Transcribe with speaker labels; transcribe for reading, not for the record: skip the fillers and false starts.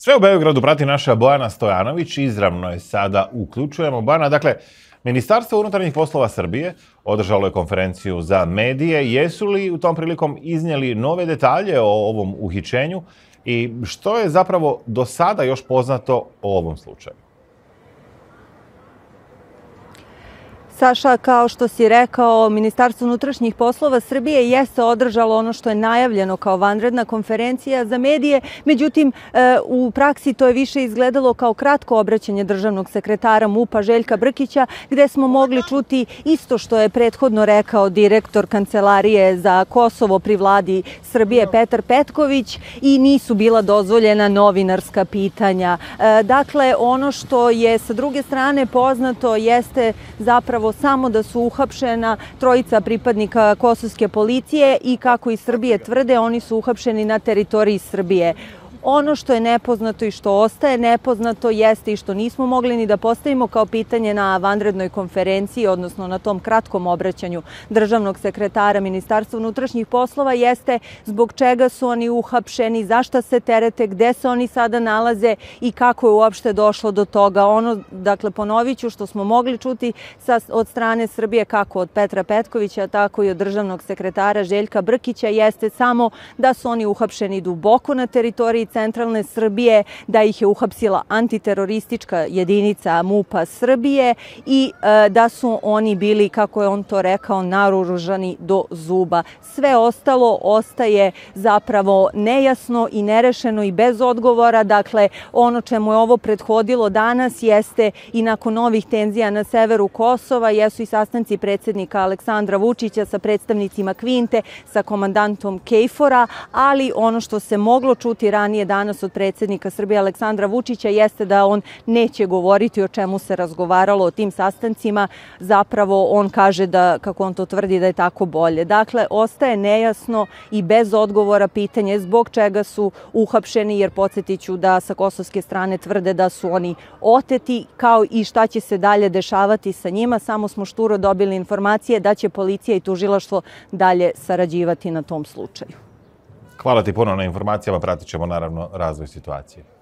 Speaker 1: Sve u Beogradu prati naša Bojana Stojanović, izravno je sada uključujemo. Bojana, dakle, Ministarstvo unutarnjih poslova Srbije održalo je konferenciju za medije. Jesu li u tom prilikom iznijeli nove detalje o ovom uhićenju i što je zapravo do sada još poznato o ovom slučaju?
Speaker 2: Saša, kao što si rekao, Ministarstvo unutrašnjih poslova Srbije jeste održalo ono što je najavljeno kao vanredna konferencija za medije. Međutim, u praksi to je više izgledalo kao kratko obraćanje državnog sekretara MUP-a Željka Brkića, gde smo mogli čuti isto što je prethodno rekao direktor Kancelarije za Kosovo pri vladi Srbije Petar Petković i nisu bila dozvoljena novinarska pitanja. Dakle, ono što je sa druge strane poznato jeste zapravo samo da su uhapšena trojica pripadnika kosovske policije i kako iz Srbije tvrde, oni su uhapšeni na teritoriji Srbije. Ono što je nepoznato i što ostaje nepoznato jeste i što nismo mogli ni da postavimo kao pitanje na vanrednoj konferenciji, odnosno na tom kratkom obraćanju državnog sekretara Ministarstva unutrašnjih poslova, jeste zbog čega su oni uhapšeni, zašta se terete, gde se oni sada nalaze i kako je uopšte došlo do toga. Dakle, ponovit ću što smo mogli čuti od strane Srbije, kako od Petra Petkovića, tako i od državnog sekretara Željka Brkića, jeste samo da su oni uhapšeni duboko na teritoriji centralne Srbije, da ih je uhapsila antiteroristička jedinica MUP-a Srbije i da su oni bili, kako je on to rekao, naoružani do zuba. Sve ostalo ostaje zapravo nejasno i nerešeno i bez odgovora. Dakle, ono čemu je ovo prethodilo danas jeste i nakon novih tenzija na severu Kosova, jesu i sastanci predsjednika Aleksandra Vučića sa predstavnicima Kvinte, sa komandantom KFOR-a, ali ono što se moglo čuti ranije danas od predsjednika Srbije Aleksandra Vučića jeste da on neće govoriti o čemu se razgovaralo o tim sastancima. Zapravo on kaže da, kako on to tvrdi, da je tako bolje. Dakle, ostaje nejasno i bez odgovora pitanje zbog čega su uhapšeni, jer podsjetit ću da sa kosovske strane tvrde da su oni oteti, kao i šta će se dalje dešavati sa njima. Samo smo šturo dobili informacije da će policija i tužilaštvo dalje sarađivati na tom slučaju.
Speaker 1: Hvala ti puno na informacijama, pratit ćemo naravno razvoj situacije.